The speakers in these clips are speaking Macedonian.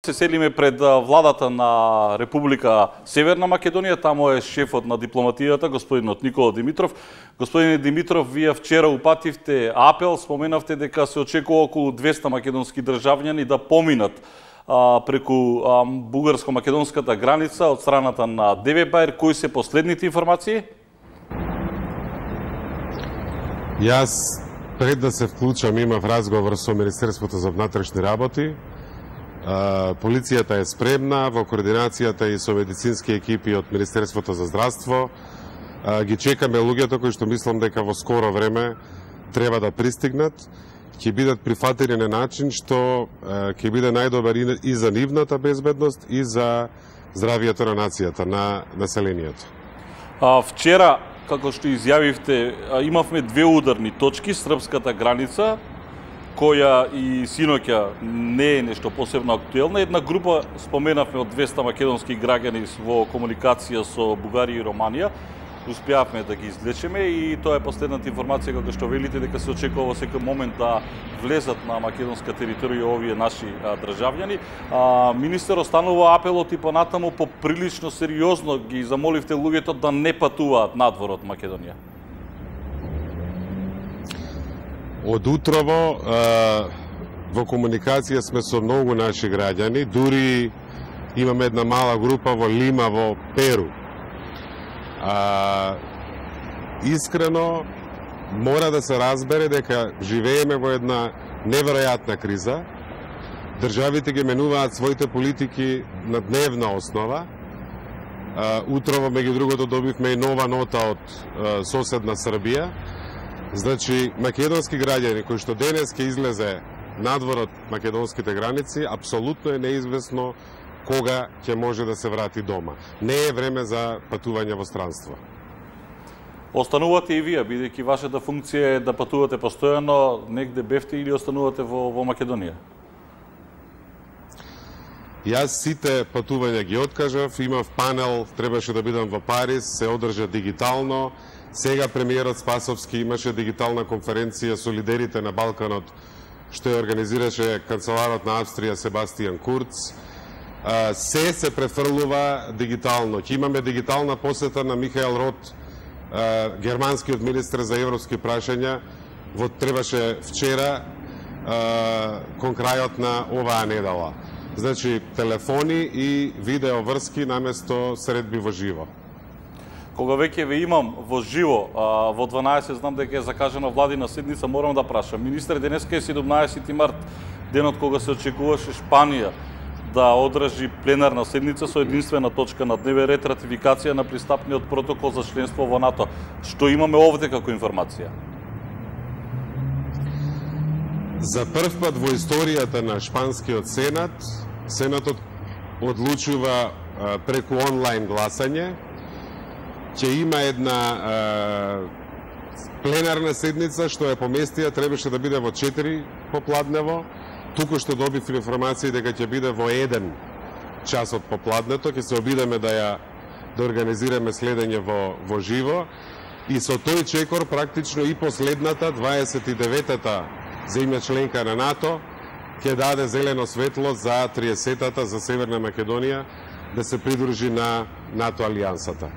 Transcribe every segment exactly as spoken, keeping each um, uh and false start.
Се селиме пред владата на Република Северна Македонија, таму е шефот на дипломатијата, господинот Никола Димитров. Господине Димитров, вие вчера упативте апел, споменавте дека се очекува околу двеста македонски државјани да поминат а, преку а, бугарско-македонската граница од страната на Девебајр. Кои се последните информации? Јас пред да се вклучам имав разговор со Министерството за внатрешни работи. Полицијата е спремна во координацијата и со медицински екипи од Министерството за здравство. Ги чекаме луѓето кои што мислам дека во скоро време треба да пристигнат. Ќе бидат прифатени на начин што ќе биде најдобар и за нивната безбедност и за здравието на нацијата, на населението. А, вчера, како што изјавивте, имавме две ударни точки, српската граница, која и синоќа не е нешто посебно актуелна. Една група, споменавме, од двеста македонски граѓани во комуникација со Бугарија и Романија, успеавме да ги излечеме и тоа е последната информација, како што велите, дека се очекува во секој момент да влезат на македонска територија овие наши а, државјани. А, министер, останува апелот и понатаму поприлично сериозно ги замоливте луѓето да не патуваат надвор од Македонија. Од утрово во комуникација сме со многу наши граѓани, дури имаме една мала група во Лима, во Перу. А, искрено, мора да се разбере дека живееме во една неверојатна криза. Државите ги менуваат своите политики на дневна основа. А, утрово, меѓу другото, добивме и нова нота од а, соседна Србија. Значи, македонски граѓани кои што денес ќе излезе надвор од македонските граници, апсолутно е неизвестно кога ќе може да се врати дома. Не е време за патување во странство. Останувате и вие, бидејќи вашата функција е да патувате постојано, негде бевте или останувате во, во Македонија? Јас сите патувања ги откажав, имав панел, требаше да бидам во Париз, се одржа дигитално. Сега премиерот Спасовски имаше дигитална конференција со лидерите на Балканот, што ја организираше канцеларот на Австрија Себастијан Курц. Се се префрлува дигитално. Ќе имаме дигитална посета на Михаел Рот, германскиот министер за европски прашања, во требаше вчера кон крајот на оваа недела. Значи, телефони и видеоврски наместо средби во живо. Кога веќе ве имам во живо, во дванаесет знам дека е закажана владина седница, морам да прашам. Министер, денеска е седумнаесети март, денот кога се очекуваше Шпанија да одржи пленарна седница со единствена точка на дневен ред, ратификација на пристапниот протокол за членство во НАТО. Што имаме овде како информација? За прв пат во историјата на Шпанскиот Сенат, Сенатот одлучува преку онлайн гласање. Ќе има една е, пленарна седница што ја поместија, требаше да биде во четири попладнево. Туку што добив информација дека ќе биде во еден час од попладнето, ќе се обидеме да ја да организираме следење во во живо и со тој чекор практично и последната дваесет и деветата земја членка на НАТО ќе даде зелено светло за триесетата за Северна Македонија да се придружи на НАТО алијансата.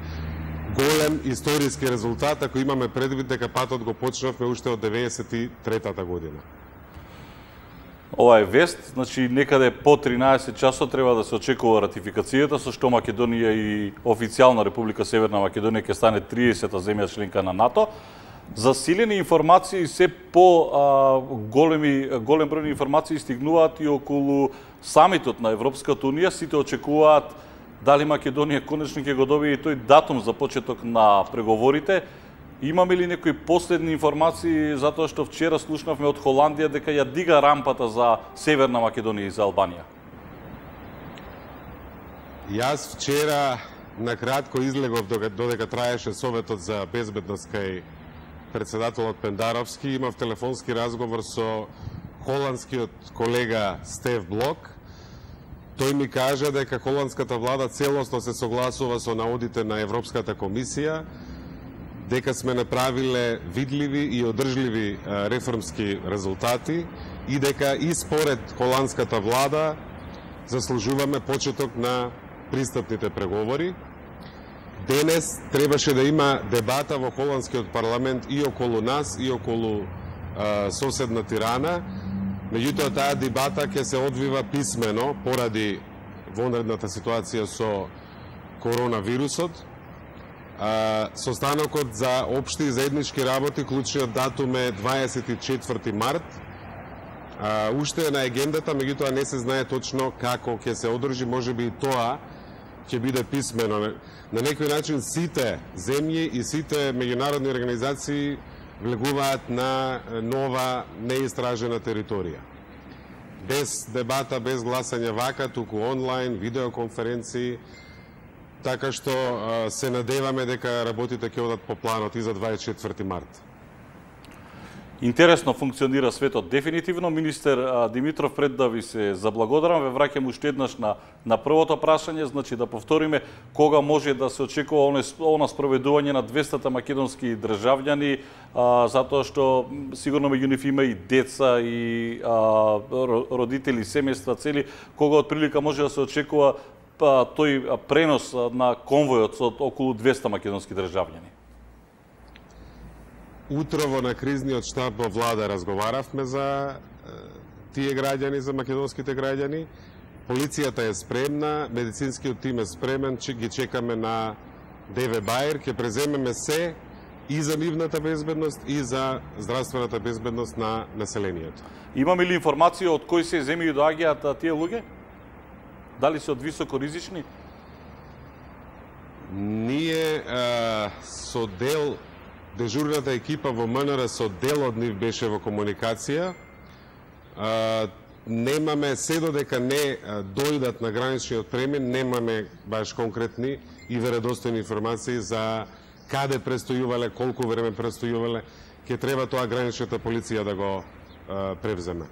Голем историски резултат, ако имаме предвид дека патот го почнавме уште од деветдесет и третата година. Ова е вест, значи некаде по тринаесет часот треба да се очекува ратификацијата, со што Македонија и официјална Република Северна Македонија ќе стане триесета земја членка на НАТО. Засилени информации, се по а, големи, голем број информации стигнуваат и околу самитот на Европската Унија. Сите очекуваат дали Македонија конечно ќе го добие тој датум за почеток на преговорите. Имаме ли некои последни информации, затоа што вчера слушнавме од Холандија дека ја дига рампата за Северна Македонија и за Албанија? Јас вчера накратко излегов додека траеше Советот за безбедност кај председателот Пендаровски. Имав телефонски разговор со холандскиот колега Стеф Блок. Тој ми кажа дека холандската влада целосно се согласува со наодите на Европската комисија, дека сме направиле видливи и одржливи реформски резултати и дека и според холандската влада заслужуваме почеток на пристапните преговори. Денес требаше да има дебата во холандскиот парламент и околу нас, и околу а, соседна Тирана. Меѓутоа, таа дебата ќе се одвива писмено поради вонредната ситуација со коронавирусот. А, состанокот за општи и заеднички работи, клучниот датум е дваесет и четврти март. А, уште е на агендата, меѓутоа не се знае точно како ќе се одржи, можеби и тоа ќе биде писмено. На некој начин сите земји и сите меѓународни организации влегуваат на нова неистражена територија. Без дебата, без гласање вака, туку онлайн, видеоконференции, така што се надеваме дека работите ќе одат по планот и за дваесет и четврти март. Интересно функционира светот дефинитивно. Министер Димитров, пред да ви се заблагодарам, ве враќам уште еднаш на, на првото прашање, значи да повториме кога може да се очекува она спроведување на двеста македонски државјани, а, затоа што сигурно меѓу нив има и деца, и а, родители, семејства цели, кога од прилика може да се очекува а, тој пренос на конвојот од околу двеста македонски државјани. Утрово на кризниот штаб во влада разговаравме за тие граѓани, за македонските граѓани. Полицијата е спремна, медицинскиот тим е спремен, че ги чекаме на ДВ Бајер, ќе преземеме се и за нивната безбедност и за здравствената безбедност на населението. Имаме ли информација од кои се земји доаѓаат тие луѓе? Дали се од високо ризични? Ние а, со дел дежурната екипа во МНР со дел од нив беше во комуникација. А, немаме, се додека не дојдат на граничниот премин, немаме баш конкретни и веродостојни информации за каде престојувале, колку време престојувале. Ќе треба тоа граничната полиција да го а, превземе.